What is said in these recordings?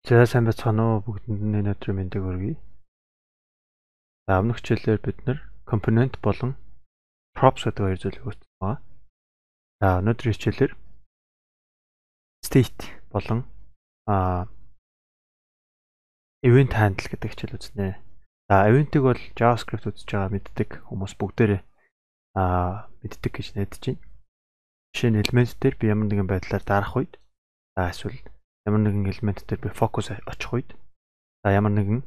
За сайн байцгаана уу бүгдэнд нь өнөөдрийн мэндийг хүргэе. За өмнөх хичээлээр бид нэр компонент болон props гэдэг хоёр зүйлийг үзсэн байгаа. За өнөөдрийн хичээлээр state болон event handle гэдэг хичээл үзнэ. За event-ийг бол JavaScript үзэж байгаа мэддэг хүмүүс бүгдээрээ мэддэг гэж найдаж байна. Жишээ нь элемент дээр би ямар нэгэн байдлаар дарах үед эсвэл ямар нэгэн элемент дээр би фокус очих үед ямар нэгэн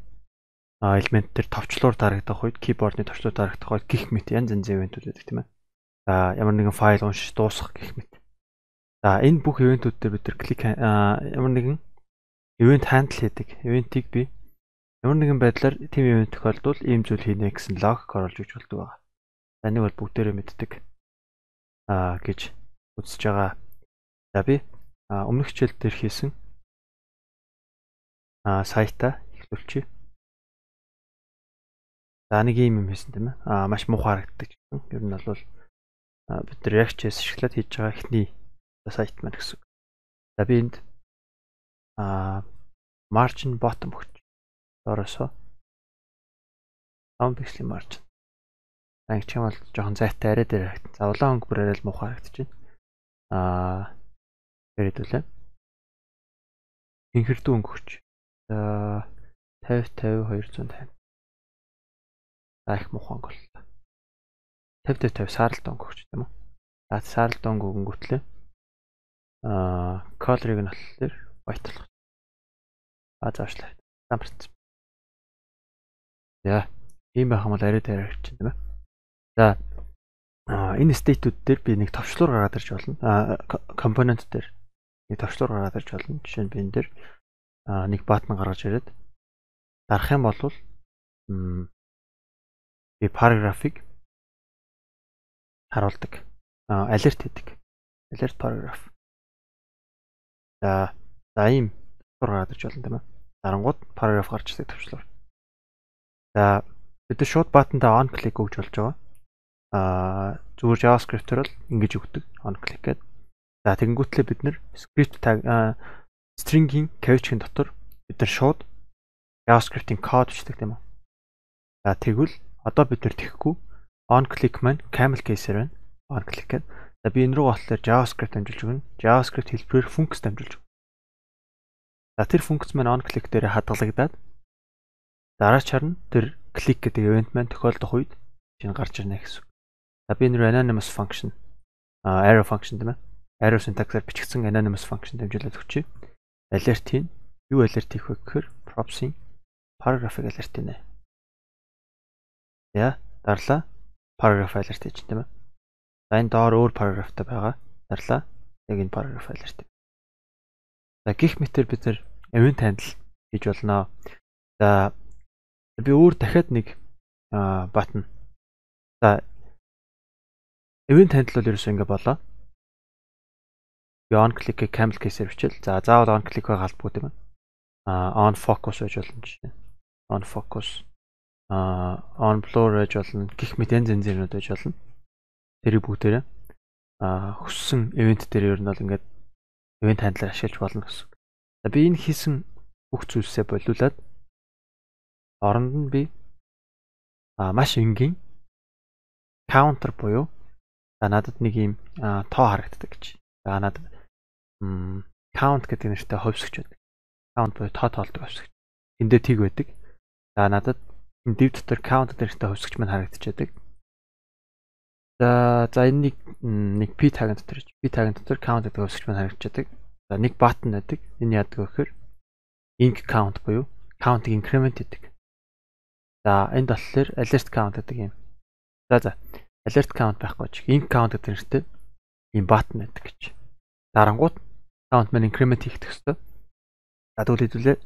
элемент дээр товчлуур дарагдах үед keyboard-ны товчлуур дарагдах үед гих мэт янз янзын ивентүүд байдаг тийм ээ. За ямар нэгэн файл уншиж дуусгах гих мэт. За энэ бүх ивентүүд дээр бид нар клик ямар нэгэн event handle хийдэг. Ивентийг би ямар нэгэн байдлаар тийм ивент тохиолдвол ийм зүйл хийнэ гэсэн логик оруулж өгч болдог байгаа. За энийг бол бүгдээрээ мэддэг гэж үзэж байгаа. За би өмнөх хичээл дээр хийсэн сайтаа эхлүүлчихье. За нэг юм хийсэн тийм ээ. Маш муухай харагддаг. Ер нь бол бид нар React.js ашиглаад хийж байгаа эхний сайт маань гэсэн. За би энд margin bottom өгч. Доороосоо 5 пикселийн margin. Ангич юм бол жоохон зайтай арай дээр харагдана. За улаан өнгө бүр арай л муухай харагдаж байна. Хэрэдүүлээ. Инхэрдүү өнгө өгч. За 50 250. За их муухай өнгө боллоо. 50 сааралт өнгө өгч тийм үү? За сааралт өнгө өгөнгүүтлээ. Color-ыг нь болохоор white болгох. Заашлаа. Замарсан. За ийм байх юм бол арай дээр харагдаж байна тийм ээ. За энэ state-үүд дээр би нэг товчлуур гаргаад ирж болно. Компонент дээр нэг товчлуур гаргаад ирж болно. Жишээ нь би энэ дээр нэг баттон гаргаж ирээд дарах юм бол би paragraph-ыг харуулдаг. Alert хийдэг. Alert paragraph. За ийм товчлуур гараад ирж болно тийм ээ. Дарангууд paragraph гарч ирдэг товчлуур. За бид шууд баттантаа on click өгж болж байгаа. Зүгээр JavaScript-ээр бол ингэж өгдөг. On click гэдэг. За тэгэнгүүтлээ бид нэр script tag string-ийн кавичгийн дотор бид нар шууд JavaScript-ийн код бичдэг тийм үү. За тэгвэл одоо бид нар тэхгүй on click маань camel case-ээр байна. On click гэдэг. За би энэ рүү болохоор JavaScript дамжуулж өгнө. JavaScript хэлбэрээр функц дамжуулж өгнө. За тэр функц маань on click дээр хадгалагдаад дараа чарна тэр click гэдэг event маань тохиолдох үед чинь гарч ирнэ гэсэн. За би энэ рүү anonymous function arrow function тийм ээ. Arrow syntax-аар бичигдсэн anonymous function дамжуулаад өгчээ. Alert хийн. Юу alert хийх вэ гэхээр props-ийн paragraph-ыг alert хийнэ. За дарлаа paragraph alert хийж тийм ээ. За энэ доор өөр paragraph-тай байгаа. Дарлаа яг энэ paragraph alert хийнэ. За гих мэтэр бид нэр event handle хийж болно. За би өөр дахиад нэг button. За event handle бол ерөөсөө ингэ болоо. Би on click-ийг camel case-ээр бичээл. За заавал on click галбгүй тийм ээ. On focus байж болно жишээ. On focus on blur байж болно. Гих мэт янз янзын байж болно. Тэрийг бүгдээрээ хүссэн event дээр ер нь бол ингээд event handler ашиглаж болно гэсэн. За би энэ хийсэн бүх зүйлсээ болиулаад оронд нь би маш энгийн counter буюу надад нэг юм тоо харагддаг гэж. За надад count гэдэг нэртэй ховсгч байдаг. Count буюу тоо тоолдог ховсгч. Энд дээр тийг байдаг. За надад энэ div дотор count гэдэг нэртэй ховсгч маань харагдчихдаг. За энэ нэг p tag дотор count гэдэг ховсгч маань харагдчихдаг. За нэг button байдаг. Энэ яадаг вэ гэхээр inc count буюу count-ыг increment хийдэг. За энд болохоор alert count гэдэг юм. За alert count байхгүй ч inc count гэдэг нэртэй ийм button байдаг гэж. Дарангууд count маань increment хийх хэрэгтэй. За тэгвэл хэдүүлээ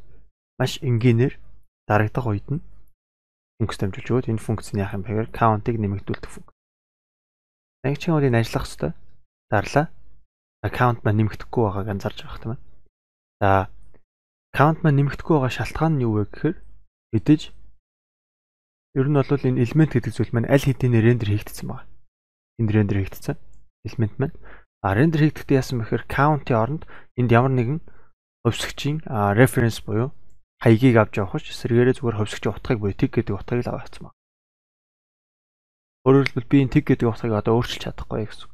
маш энгийнээр дарагдах үед нь функц дамжуулж өгөөд энэ функцны яах юм бэ гэхээр count-ыг нэмэгдүүлдэг функц. Нэг чинь үнийг ажиллах хэрэгтэй. Дарлаа. Count маань нэмэгдэхгүй байгааг анзаарч байгаа юм. За count маань нэмэгдэхгүй байгаа шалтгаан нь юу вэ гэхээр мэдээж ер нь бол энэ элемент гэдэг зүйл маань аль хэдийн рендер хийгдсэн байна. Энд рендер хийгдсэн элемент маань рендер хийгдэхдээ яасан бэхээр count-ийн оронд энд ямар нэгэн хөвсгчийн reference буюу хаягийг авч явах ш эсрэгээрээ зүгээр хөвсгчийн утгыг буюу tag гэдэг утгыг л аваацсан байна. Өөрөөр хэлбэл би энэ tag гэдэг утгыг одоо өөрчилж чадахгүй гэсэн үг.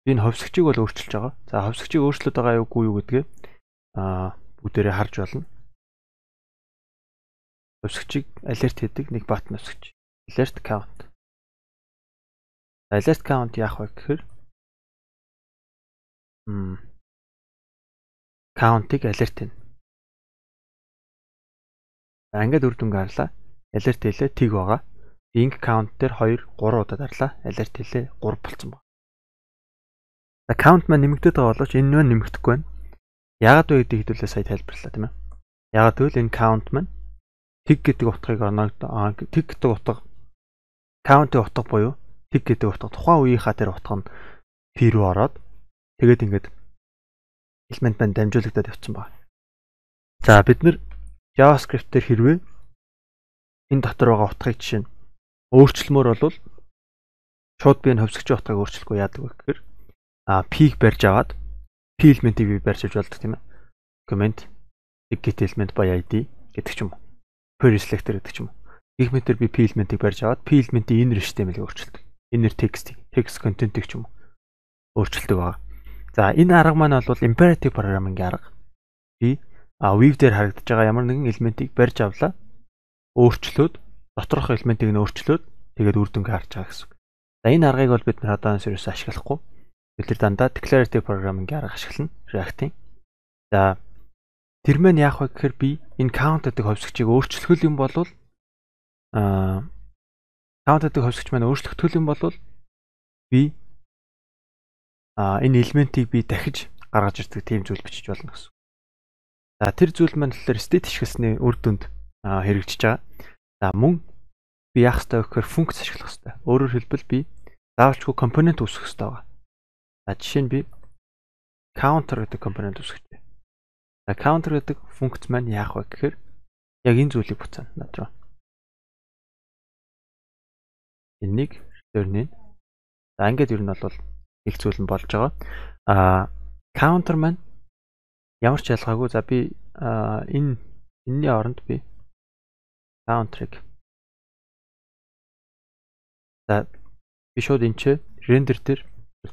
Би энэ хөвсгчийг бол өөрчилж байгаа. За хөвсгчийг өөрчлөд байгаа юугүй юу гэдгээ бүгдээрээ харж болно. Хөвсгчийг alert хийдэг нэг button хөвсгч. Alert count. Alert count яах вэ гэхээр count-ыг alert хийнэ. Ингээд үр дүнг харлаа. Alert хийлээ тэг байгаа. Ink count дээр 2 3 удаа дарлаа. Alert хийлээ 3 болцсон байна. За count маань нэмэгдээд байгаа боловч энэ маань нэмэгдэхгүй байна. Яагаад вэ гэдгийг хэдүүлээ сая тайлбарлалаа тийм ээ. Яагаад гэвэл энэ count маань тэг гэдэг утгыг тэг гэдэг утга count-ийн утга буюу тэг гэдэг утга тухайн үеийнхаа тэр утга нь p рүү ороод тэгээд ингээд элемент маань дамжуулагдаад явцсан байна. За бид нэр JavaScript дээр хэрвээ энэ дотор байгаа утгыг жишээ нь өөрчлөмөр болвол шууд би энэ хөвсгчийн утгыг өөрчлөхгүй яадаг вэ гэхээр p-г барьж аваад p элементийг би барьж авч болдог тийм ээ. Comment get element by id гэдэг ч юм уу. Query selector гэдэг ч юм уу. Их метр би p элементийг барьж аваад p элементийн inner HTML-ийг өөрчилдөг. Inner text content-ийг ч юм уу өөрчилдөг байгаа. За энэ арга маань бол imperative programming-ийн арга. Би Weave дээр харагдаж байгаа ямар нэгэн элементийг барьж авлаа. Өөрчлөөд доторх элементийг нь өөрчлөөд тэгээд үр дүнгээ харж байгаа гэсэн үг. За энэ аргыг бол бид нар одоо ерөөсөө ашиглахгүй. Бид нар дандаа declarative programming-ийн арга ашиглана. React-ийн. За тэр маань яах вэ гэхээр би энэ count гэдэг хөвсгчийг өөрчлөх юм бол count гэдэг хөвсгч маань өөрчлөгдөх юм бол би энэ элементийг би дахиж гаргаж ирдэг тийм зүйл бичиж болно гэсэн. За тэр зүйл маань болохоор state ашигласны үр дүнд хэрэгжиж байгаа. За мөн би яах ёстой вэ гэхээр функц ашиглах ёстой. Өөрөөр хэлбэл би заавалчгүй компонент үүсгэх ёстой байгаа. За жишээ нь би counter гэдэг компонент үүсгэж байна. За counter гэдэг функц маань яах вэ гэхээр яг энэ зүйлийг буцаана над руу. Энийг return-ийн. За ингээд ер нь бол их зүйл нь болж байгаа. Counter маань ямар ч ялгаагүй. За би энэний оронд би counter-ыг за би шууд энэ ч render дээр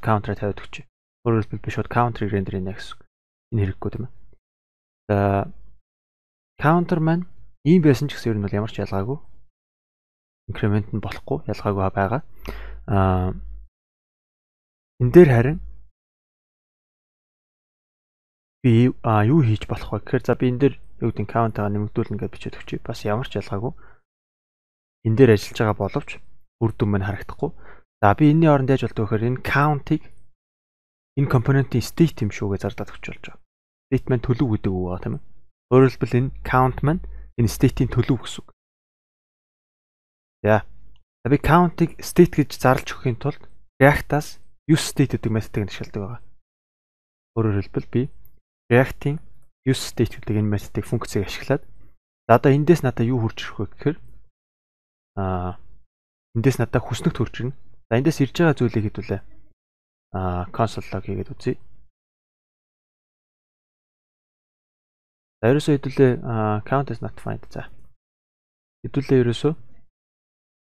counter-ыг тавиад өгч. Өөрөөр хэлбэл би шууд counter-ыг render хийнэ гэсэн үг. Энэ хэрэггүй тийм ээ. За counter маань ийм байсан ч гэсэн ер нь бол ямар ч ялгаагүй. Increment нь болохгүй, ялгаагүй байгаа. Энэ дээр харин би юу хийж болох вэ гэхээр за би энэ дээр юу гэдэг count-аа нэмэгдүүлнэ гэж бичээд өгчээ. Бас ямар ч ялгаагүй. Энэ дээр ажиллаж байгаа боловч үр дүн маань харагдахгүй. За би энэний оронд яаж болдог вэ гэхээр энэ count-ыг энэ компонентийн state юм шүүгээ зарлаад өгч болж байгаа. State маань төлөв гэдэг үг байгаа тийм ээ. Өөрөөр хэлбэл энэ count маань энэ state-ийн төлөв гэсэн үг. За би count-ыг state гэж зарлж өгөхийн тулд React-аас use state гэдэг методыг ашигладаг байгаа. Өөрөөр хэлбэл би React-ийн use state гэдэг энэ методыг функцийг ашиглаад за одоо эндээс надад юу хурж ирэх вэ гэхээр эндээс надад хүснэгт хурж ирнэ. За эндээс ирж байгаа зүйлийг хэдүүлээ console log хийгээд үзье. За ерөөсөө хэдүүлээ count is not found. За хэдүүлээ ерөөсөө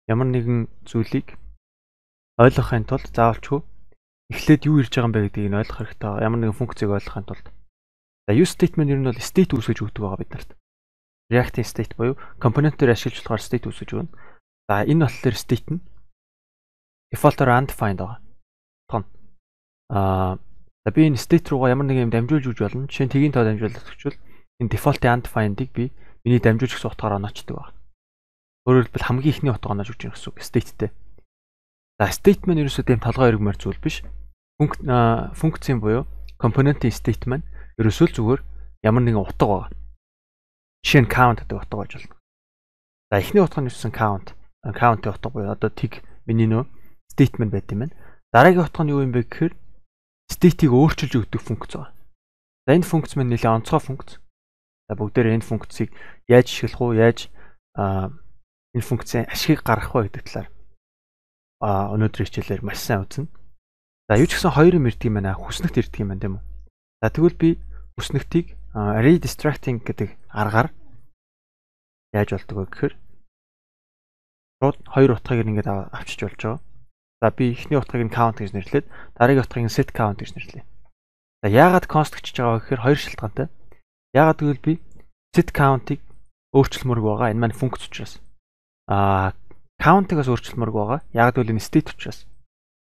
ямар нэгэн зүйлийг ойлгохын тулд заавалчгүй эхлээд юу ирж байгаа юм бэ гэдгийг нь ойлгох хэрэгтэй байгаа. Ямар нэгэн функцийг ойлгохын тулд. За use statement ер нь бол state үүсгэж өгдөг байгаа бид нарт. React-ийн state буюу компонентээр ашиглаж болохоор state үүсгэж өгнө. За энэ болохоор state нь default-оор undefined байгаа. Тон. За би энэ state руугаа ямар нэгэн юм дамжуулж өгч болно. Жишээ нь тгийн тоо дамжуулаад өгчвөл энэ default-ийн undefined-ыг би миний дамжуулж өгсөн утгаараа оноочдөг байна. Өөрөөр хэлбэл хамгийн ихний утга оноож өгч байгаа гэсэн үг state-тэй. За state маань ерөөсөө тийм толгой эргмээр зүйл биш. Функцийн буюу компонентийн state маань ерөөсөө л зүгээр ямар нэгэн утга байгаа. Жишээ нь count гэдэг утга болж байна. За эхний утга нь юусэн count-ийн утга буюу одоо тэг миний нөө statement байт юм байна. Дараагийн утга нь юу юм бэ гэхээр state-ийг өөрчилж өгдөг функц байгаа. За энэ функц маань нэлээд онцгой функц. За бүгдээр энэ функцийг яаж ашиглах уу, яаж энэ функцийн ашигыг гаргах вэ гэдэг талаар өнөөдрийн хичээлээр маш сайн үзнэ. За юу ч гэсэн хоёр юм ирдэг юм байна. Хүснэгт ирдэг юм байна тийм үү? За тэгвэл би бүснэгтийг redistracting гэдэг аргаар яаж болдог вэ гэхээр шууд хоёр утгыг ингээд авчиж болж байгаа. За би эхний утгыг нь count гэж нэрлээд дараагийн утгыг нь set count гэж нэрлэе. За яагаад const гэж байгаа вэ гэхээр хоёр шалтгаантай. Яагаад гэвэл би set count-ыг өөрчлөмөрг байгаа. Энэ маань функц учраас. Count-ыг өөрчлөмөрг байгаа. Яагаад гэвэл энэ state учраас.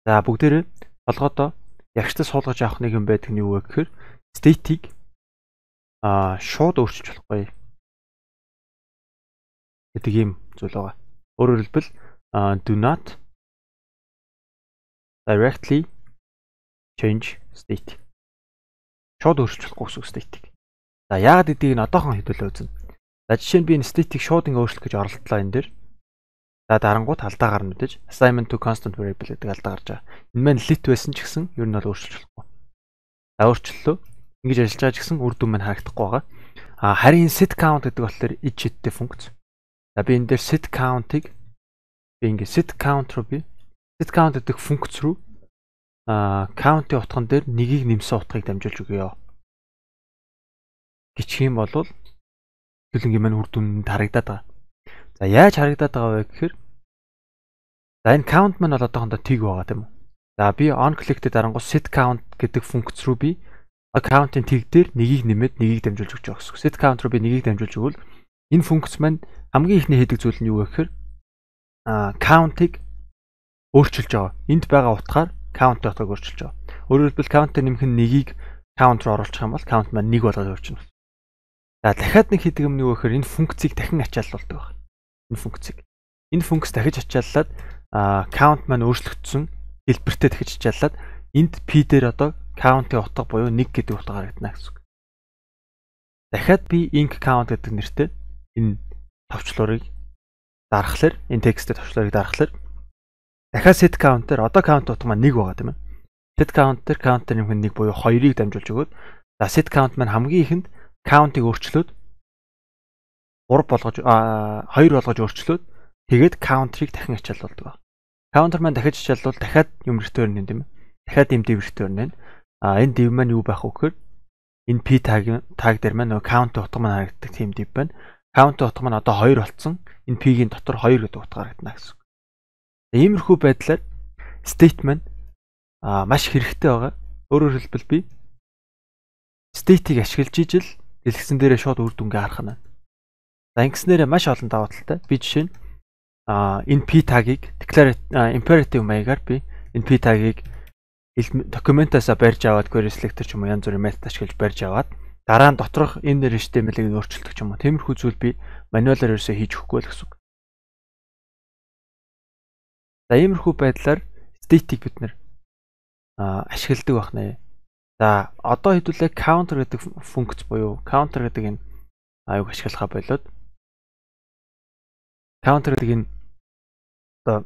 За бүгдээрээ толгойдоо ягштаа суулгаж авах нэг юм байдаг нь юу вэ гэхээр state-ийг шууд өөрчилж болохгүй гэдэг юм зүйл байгаа. Өөрөөр хэлбэл do not directly change state. Шууд өөрчилж болохгүй гэсэн state-ийг. За яагаад гэдгийг нь одоохон хэдүүлээ үзнэ. За жишээ нь би энэ state-ийг шууд ингэ өөрчлөх гэж оролдлоо энэ дээр. За дарангууд алдаа гарна мэдээж assignment to constant variable гэдэг алдаа гарч байгаа. Энэ маань lit байсан ч гэсэн ер нь бол өөрчилж болохгүй. За өөрчлөлөө ингэж ажиллаж байгаа ч гэсэн үр дүн маань харагдахгүй байгаа. Харин set count гэдэг болохоор id sheet-тэй функц. За би энэ дээр set count-ыг би ингэ set count руу би set count гэдэг функц руу count-ийн утган дээр нэгийг нэмсэн утгыг дамжуулж өгье. Гिचх юм бол төлөнгийн маань үр дүнд харагдаад байгаа. За яаж харагдаад байгаа вэ гэхээр за энэ count маань бол одоохондоо тиг байгаа тийм үү. За би on click-тэй дарангуй set count гэдэг функц руу би count-ийн тиг дээр нэгийг нэмээд нэгийг дамжуулж өгч байгаа гэсэн. Set count руу би нэгийг дамжуулж өгвөл энэ функц маань хамгийн ихний хийдэг зүйл нь юу вэ гэхээр count-ыг өөрчилж байгаа. Энд байгаа утгаар count-ийн утгыг өөрчилж байгаа. Өөрөөр хэлбэл count-ыг нэмэх нь нэгийг count руу оруулах юм бол count маань 1 болгож өөрчилнө. За дахиад нэг хийдэг юм нь юу вэ гэхээр энэ функцийг дахин ачааллуулдаг байна. Энэ функц дахиж ачааллаад count маань өөрчлөгдсөн хэлбэртэй дахиж ачааллаад энд p дээр одоо count-ийн утга буюу 1 гэдэг утга харагдана гэсэн үг. Дахиад би inc count гэдэг нэртэй энэ товчлуурыг дарахлаар энэ тексттэй товчлуурыг дарахлаар дахиад set count дээр одоо count утга маань 1 байгаа тийм ээ. Set count дээр count нэмэх нь 1 буюу 2-ыг дамжуулж өгөөд за set count маань хамгийн ихэнд count-ыг өөрчлөөд 3 болгож 2 болгож өөрчлөөд тэгээд counter-ыг дахин ачаалуулдаг. Counter маань дахиж ачаалвал дахиад юм return нэ тийм ээ. Дахиад юм div return нэ. Энэ div маань юу байх вэ гэхээр энэ p tag дээр маань нөгөө count утга маань харагддаг тийм div байна. Count утга маань одоо 2 болцсон. Энэ p-ийн дотор 2 гэдэг утга харагдана гэсэн. Иймэрхүү байдлаар state маань маш хэрэгтэй байгаа. Өөрөөр хэлбэл би state-ийг ашиглаж ижил дэлгэсэн дээрээ шууд үр дүнгээ харах нь. За ингэснээр маш олон даваа талтай. Би жишээ нь энэ p tag-ыг imperative маягаар би энэ p tag-ыг документаасаа барьж аваад query selector ч юм уу янз бүрийн метод ашиглаж барьж аваад дараа нь доторх энэ HTML-ийг өөрчилдөг ч юм уу. Тиймэрхүү зүйл би мануалаар ерөөсөө хийж өгөхгүй л гэсэн үг. За иймэрхүү байдлаар state-ийг бид нэр ашигладаг байх нэ. За одоо хэдүүлээ counter гэдэг функц буюу counter гэдэг энэ аюуг ашиглахаа болоод counter гэдэг энэ одоо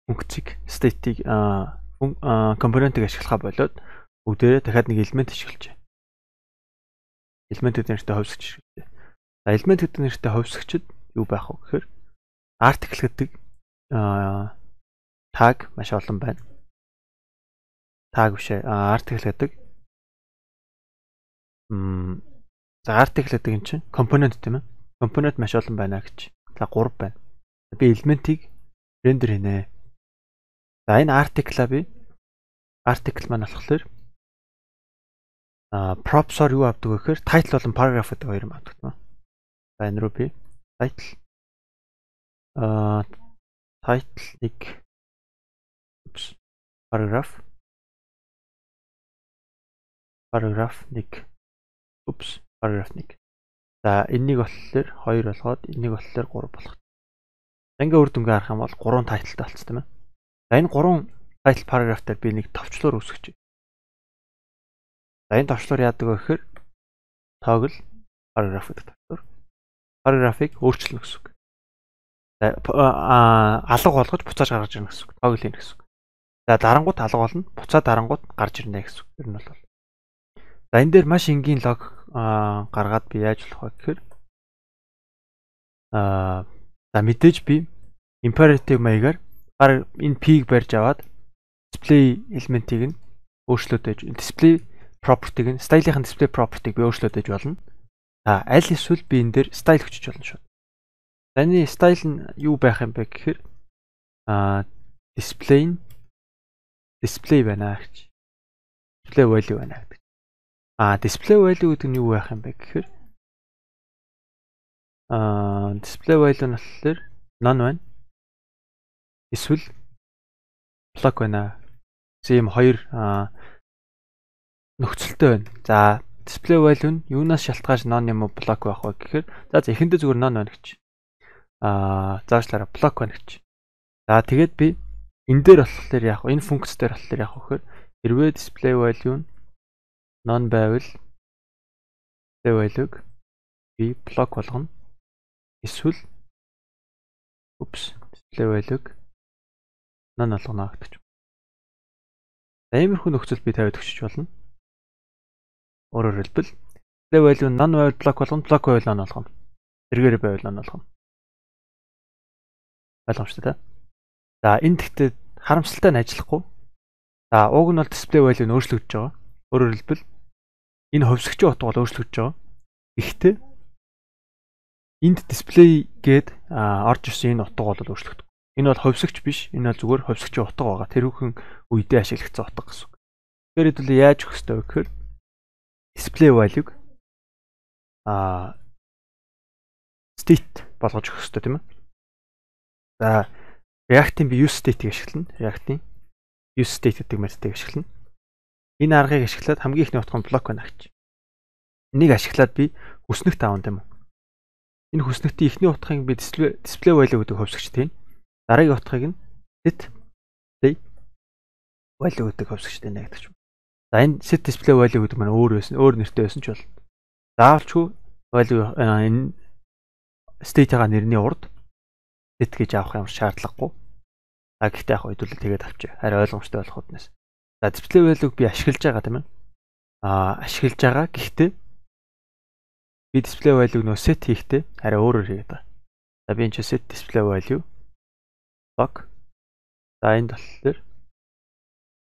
функцийг state-ийг компонентыг ашиглахаа болоод бүгдээрээ дахиад нэг элемент ашиглаж. Элемент гэдэг нэртэй хувьсгч хэрэгтэй. За элемент гэдэг нэртэй хувьсгчд юу байх вэ гэхээр article гэдэг tag маш олон байна. Tag биш article гэдэг за article гэдэг энэ чинь компонент тийм ээ. Компонент маш олон байна гэж. За 3 байна. Би элементийг рендер хийнэ. За энэ article-а би article маань болохоор props-оор юу авдаг вэ гэхээр title болон paragraph гэдэг хоёр юм авдаг тийм ээ. За энэ рүү би title title-ыг paragraph 1 paragraph 1. За энэнийг болохоор 2 болгоод энийг болохоор 3 болгох. Ингээ үр дүнгээ харах юм бол 3 тайлтай болцсон тийм ээ. За энэ 3 title paragraph дээр би нэг товчлуур үүсгэж. За энэ товчлуур яадаг вэ гэхээр toggle paragraph гэдэг товчлуур. Paragraph-ыг өөрчилнө гэсэн үг. За алга болгож буцааж гаргаж ирнэ гэсэн үг. Toggle хийн гэсэн үг. За дарангууд алга болно, буцаад дарангууд гарч ирнэ гэсэн үг. Ер нь бол. За энэ дээр маш энгийн лог гаргаад би яаж болох вэ гэхээр за мэдээж би imperative маягаар энэ p-г барьж аваад display элементийг нь өөрчлөөд байж display property-г нь style-ийн display property-г би өөрчлөөд ээж болно. Аль эсвэл би энэ дээр style хүчиж болно шүү. Таны style нь юу байх юм бэ гэхээр display байна гэж. Display value байна гэдэг. Display value гэдэг нь юу байх юм бэ гэхээр display value нь болохоор none байна. Эсвэл block байна. Ийм хоёр нөхцөлтэй байна. За display value нь юунаас шалтгаалж none юм уу block байх вэ гэхээр эхэндээ зүгээр none байна гэж. Заашлаараа block байна гэж. За тэгээд би энэ дээр болохоор яах вэ? Энэ функц дээр болохоор яах вэ гэхээр хэрвээ display value нь none байвал display value-г би block болгоно. Эсвэл display value-г none болгоно гэдэг. Иймэрхүү нөхцөл би тавиад өгчөж болно. Өөрөөр хэлбэл display value none байвал block болгоно, block байвал none болгоно. Тэргээр байвал none болгоно. Ойлгомжтой тий? За энэ гэхдээ харамсалтай нь ажиллахгүй. За уг нь бол display value нь өөрчлөгдөж байгаа. Өөрөөр хэлбэл энэ хөвсгчийн утга бол өөрчлөгдөж байгаа. Гэхдээ энд display гээд орж ирсэн энэ утга бол өөрчлөгдөв. Энэ бол хөвсгч биш. Энэ бол зүгээр хөвсгчийн утга байгаа. Тэрүүхэн үедээ ашиглагдсан утга гэсэн үг. Тэгэхээр хэдүүл яаж өгөх ёстой вэ гэхээр display value-г state болгож өгөх ёстой тийм ээ. За React-ийн би use state-ийг ашиглана. React-ийн use state гэдэг методыг ашиглана. Энэ аргыг ашиглаад хамгийн ихний утга нь block байна гэж. Энийг ашиглаад би хүснэгт аавна тийм үү? Энэ хүснэгтийн ихний утгыг би display value гэдэг хөвсгчтэй байна. Дараагийн утгыг нь set display value гэдэг хөвсгчтэй нэ гэдэг юм. За энэ set display value гэдэг маань өөр нэртэй байсан ч бол заавалчгүй value энэ state-ийн нэрний урд set гэж авах юм шаардлагагүй. Гэхдээ яг хэдүүлээ тэгээд авчи. Харин ойлгомжтой болох үднэс. За display value-г би ашиглаж байгаа тийм ээ. Ашиглаж байгаа. Гэхдээ би display value-г нөө set хийхдээ харин өөрөөр хийгээд байгаа. За би энэ set display value block. За энэ болохоор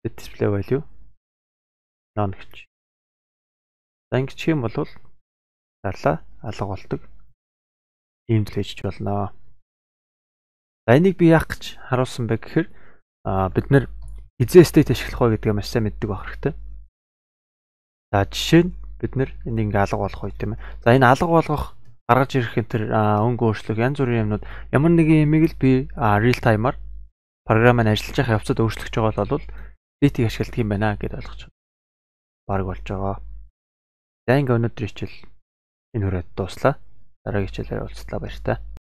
set display value none гэж. За ингэж хийх юм бол зарлаа алга болдог. Иймд л хийж болно. За энийг би яах гэж харуулсан бэ гэхээр бид нэр хизээ state ашиглах вэ гэдгээ маш сайн мэддэг байх хэрэгтэй. За жишээ нь бид нэр энийг ингээ алга болгох үе тийм ээ. За энэ алга болгох гаргаж ирэх энэ төр өнгө өөрчлөлт янз бүрийн юмнууд ямар нэгэн юмыг л би real time-аар програмыг ажиллаж байгаа явцад өөрчлөж байгаа бол state-ийг ашигладаг юм байна гэдээ ойлгож байна. Бараг болж байгаа. За ингээ өнөөдөр хичээл энэ хүрээд дуслаа. Дараагийн хичээлээр уулзлаа баяр та.